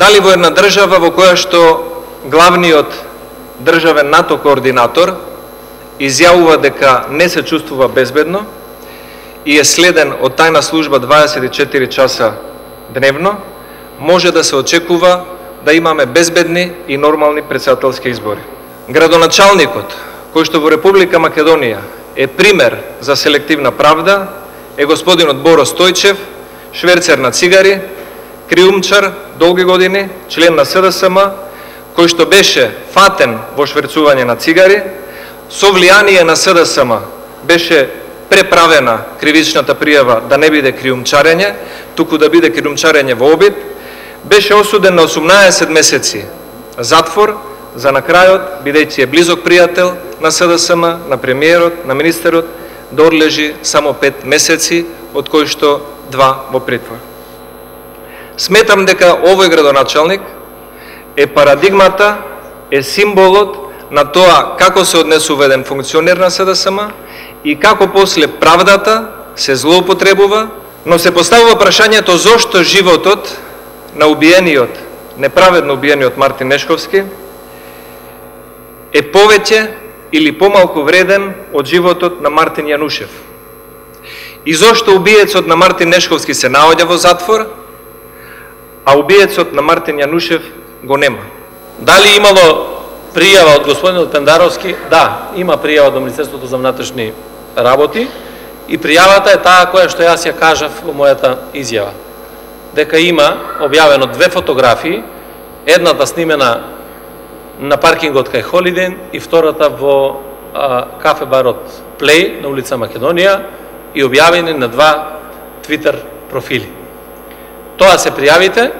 Дали во една држава во која што главниот државен НАТО координатор изјавува дека не се чувствува безбедно и е следен од тајна служба 24 часа дневно, може да се очекува да имаме безбедни и нормални претседателски избори. Градоначалникот, кој што во Република Македонија е пример за селективна правда, е господинот Боро Стојчев, шверцер на цигари, криумчар долги години, член на СДСМ, кој што беше фатен во шверцување на цигари, со влијание на СДСМ беше преправена кривичната пријава да не биде криумчарење, туку да биде криумчарење во обид, беше осуден на 18 месеци затвор, за на крајот, бидејќи е близок пријател на СДСМ, на премиерот, на министерот, да одлежи само 5 месеци, од кои што 2 во притвор. Сметам дека овој градоначалник е парадигмата, е символот на тоа како се однесува еден функционер на СДСМ и како после правдата се злоупотребува, но се поставува прашањето зошто животот на убиениот, неправедно убиениот Мартин Нешковски е повеќе или помалку вреден од животот на Мартин Јанушев. И зошто убиецот на Мартин Нешковски се наоѓа во затвор, а убиецот на Мартин Јанушев го нема. Дали имало пријава од господинот Пендаровски? Да, има пријава до Министерството за внатрешни работи и пријавата е таа која што јас ја кажав во мојата изјава. Дека има објавено 2 фотографии, едната снимена на паркингот кај Холиден и втората во кафе барот Плей на улица Македонија и објавени на 2 Твитер профили. Тоа се пријавите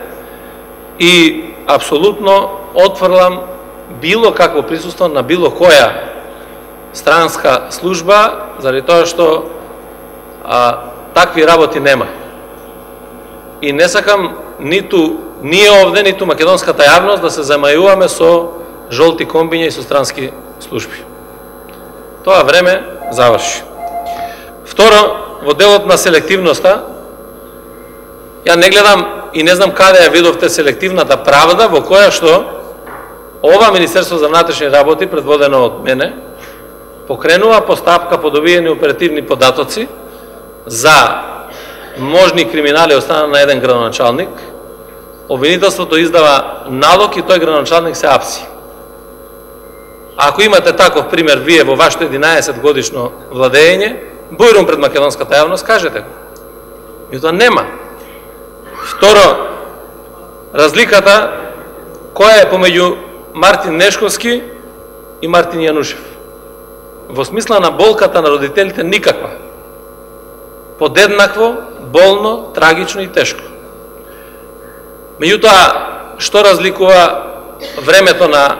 и апсолутно отфрлам било какво присуство на било која странска служба, заради тоа што такви работи нема. И не сакам ниту ние овде, ниту македонската јавност да се замајуваме со жолти комбиња и со странски служби. Тоа време заврши. Второ, во делот на селективноста, ја не гледам и не знам каде ја видовте селективната правда во која што ова Министерство за внатрешни работи, предводено од мене, покренува постапка по добиени оперативни податоци за можни криминали од страна на еден градоначалник. Обвинителството издава налог и тој градоначалник се апси. Ако имате таков пример вие во вашето 11 годишно владење, бујрум пред македонската јавност, кажете го. И тоа нема. Второ, разликата која е помеѓу Мартин Нешковски и Мартин Јанушев. Во смисла на болката на родителите никаква. Подеднакво, болно, трагично и тешко. Меѓутоа, што разликува времето на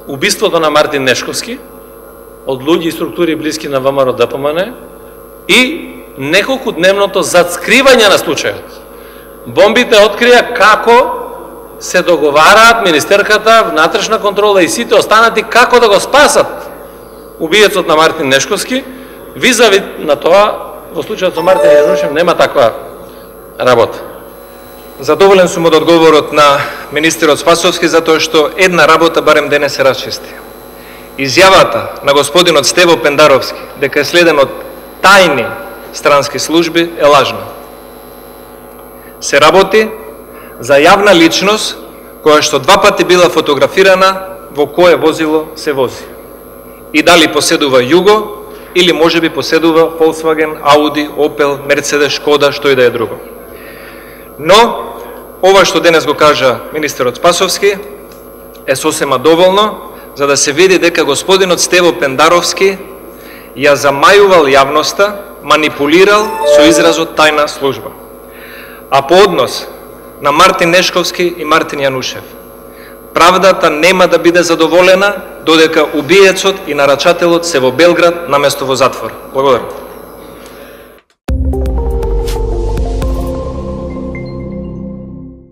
убиството на Мартин Нешковски од луѓе и структури блиски на ВМРО ДПМН и неколку дневното зацкривање на случајот. Бомбите открија како се договараат министерката, внатрешна контрола и сите останати како да го спасат убиецот на Мартин Нешковски. Визави на тоа, во случајот со Мартин Јанушев нема таква работа. Задоволен сум од одговорот на министерот Спасовски, затоа што една работа барем денес се расчисти. Изјавата на господинот Стево Пендаровски дека е следен од тајни странски служби е лажна. Се работи за јавна личност која што 2 пати била фотографирана во кое возило се вози. И дали поседува Југо или можеби поседува Volkswagen, Audi, Opel, Mercedes, Škoda, што и да е друго. Но, ова што денес го кажа министерот Спасовски е сосема доволно за да се види дека господинот Стево Пендаровски ја замајувал јавноста, манипулирал со изразот тајна служба. А по однос на Мартин Нешковски и Мартин Јанушев, правдата нема да биде задоволена додека убиецот и нарачателот се во Белград наместо во затвор. Благодарам.